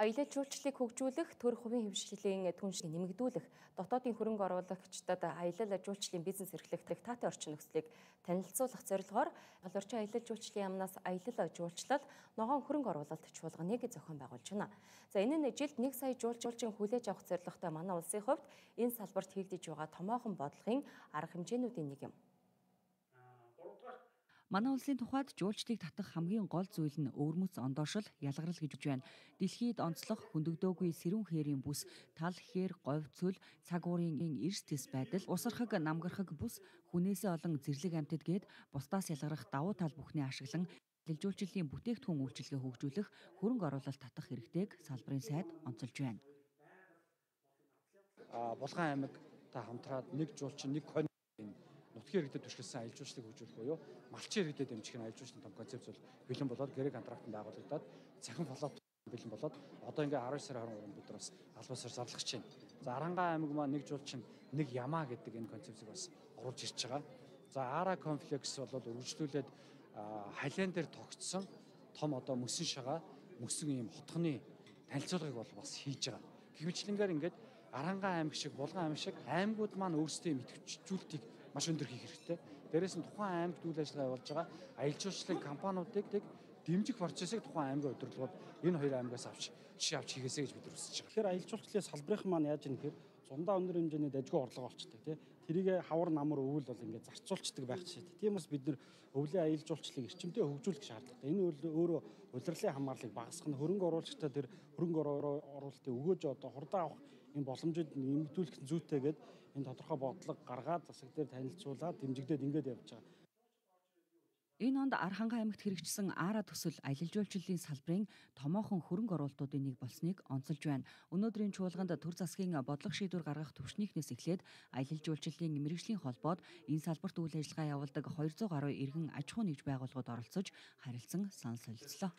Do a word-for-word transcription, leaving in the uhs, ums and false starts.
Аялал жуулчлалыг хөгжүүлэх, төр хувийн хөвшлийн түншлийг нэмэгдүүлэх, дотоодын хөрөнгө оруулагчдад аялал жуулчлалын бизнес эрхлэх таатай орчин нөхцөлийг танилцуулах зорилгоор гал орчин аялал жуулчлалын яамнаас аялал жуулчлал ногоон хөрөнгө оруулалт чуулганыг зохион байгуулж байна. За энэ нь жилд нэг сая жуулчин хүлээж авах зорилготой манай улсын хувьд энэ салбарт хийгдэж байгаа томоохон бодлогын арга хэмжээнүүдийн нэг юм. Манай улсын тухайд жуулчлалыг татах хамгийн гол зүйл нь өвөрмөц ондоошил, ялгарл гэж байна. Дэлхийд онцлог хөндөгдөөгүй сэрүүн хээрийн бүс, тал хээр, говь цөл, цаг уурын эрс тэс байдал, усархаг, намгархаг бүс, хүнээсээ олон зэрлэг амьтад гээд бусдаас ялгарах давуу тал бүхнээ ашиглан аялал жуулчлалын бүтээгдэхүүн үйлчилгээ хөгжүүлэх, хөрөнгө оруулалт татах хэрэгтэйг салбарын сайд онцолж байна. А Булган аймагтай хамтраад нэг жуулчин нэг нутгийн иргэдэд түшгэлсэн аялал жуулчлалыг хөгжүүлэх буюу малчин иргэдэд дэмжих нь аялал жуулчлалын том концепц бол бэлэн болоод гэрэг контрактанд байгуулагдаад цахим фоллоп бэлэн болоод одоо ингээ арван сарын хорин бид нар бас албасаар зарлах гэж байна. За Арангаан аймаг маань нэг жуулчин нэг ямаа гэдэг энэ концепцийг бас оруулж ирж байгаа. За Ара комплекс бол үргэлжлүүлээд халиан дээр тогтсон том одоо мөсөн шагаа мөсөн ийм хотгоны танилцуулгыг бол бас хийж байгаа. Гэх мэтлэнгээр ингээд Арангаан аймаг шиг, Булган аймаг шиг аймагуд маань өөрсдөө мэтгэжүүлэлтийг маш өндөр хийх хэрэгтэй. Дээрээс нь тухайн аймагт үйл ажиллагаа явуулж байгаа аялал жуулчлалын компаниудыг дэмжих процессыг тухайн аймгийн удирдлагууд энэ хоёр аймагаас авч жишээ авч хийгээсэй гэж бид нар хүсэж байгаа. Тэгэхээр аялал жуулчлалын салбарын маань яаж юм гэхээр зундаа өндөр хэмжээний дажгүй орлого болчдаг тий. Тэрийг хавар намар өвөл бол ингээд зарцуулцдаг байх жишээ. Тийм бас бид нар өвлийн аялал жуулчлалыг эрчимтэй хөгжүүлэх шаардлагатай. Энэ өөрөө улирлын хамаарлыг багасгах нь хөрөнгө оруулагчдад тэр хөрөнгө оруулалтыг өгөөж одоо хурдан авах энэ боломжийг нэмэгдүүлэх зүйтэйгээд энэ тодорхой бодлого гаргаад засаг дээр танилцуулаад дэмжигдээд ингээд явж байгаа. Энэ онд Архангай аймагт хэрэгжсэн Ара төсөл аялал жуулчлалын салбарын томоохон хөрөнгө оруулалтуудын нэг болсныг онцолж байна. Өнөөдрийн чуулганд төр засгийн бодлого шийдвэр гаргах түвшнийхнээс эхлээд аялал жуулчлалын мэргэжлийн холбоод энэ салбарт үйл ажиллагаа явуулдаг двести гаруй иргэн аж ахуй нэгж байгууллагууд оролцож харилцан санал солилцлоо.